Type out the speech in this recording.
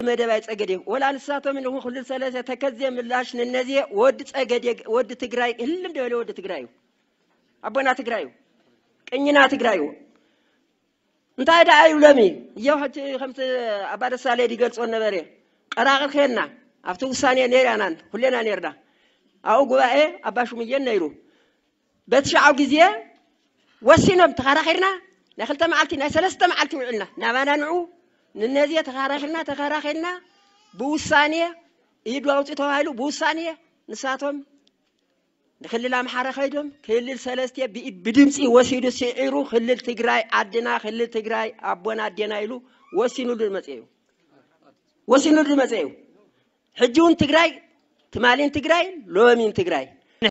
መደብ ኣይጸገዴ ወላ ንሳቶም ንኹን ክልል ሰለስተ ተከዜ ምላሽ ንነዜ ወዲ ጸገዴ ወዲ ትግራይ ህልም ደበለ ወዲ ትግራይ እዩ። ኣቦና ትግራይ እዩ። ቅኝና ትግራይ እዩ። እንታይ ደኣ እዩ ሎሚ? እየው ሕጂ ከምቲ ኣባ ደሳለይ ይገልጾ ነበረ። ቀራቕር ኬድና ኣብቲ ውሳኔ ነይራናን ኩሌና ነይርና። ኣብኡ ጉባኤ ኣባ ሹምየን ነይሩ። በቲ ሸዓው ግዜ ወሲኖም ተኸራኺርና ናይ ክልተ መዓልቲ ናይ ሰለስተ መዓልቲ ውዕልና ናባና ንዑ ንነዜ ተኸራኺርና ተኸራኺርና ብውሳኔ ኢዱ ኣውፅእ ተባሂሉ ብውሳኔ ንሳቶም ንክልል ኣምሓራ ከይዶም ክልል ሰለስተ ብኢ- ብድምፂ ወሲዱ ስዒሩ ክልል ትግራይ ዓድና ክልል ትግራይ ኣቦና ኣዴና ኢሉ ወሲኑሉ ዝመፀ እዩ። ወሲኑሉ ዝመፀ እዩ። ሕጂ እውን ትግራይ ትማሊን ትግራይ ሎሚን ትግራይ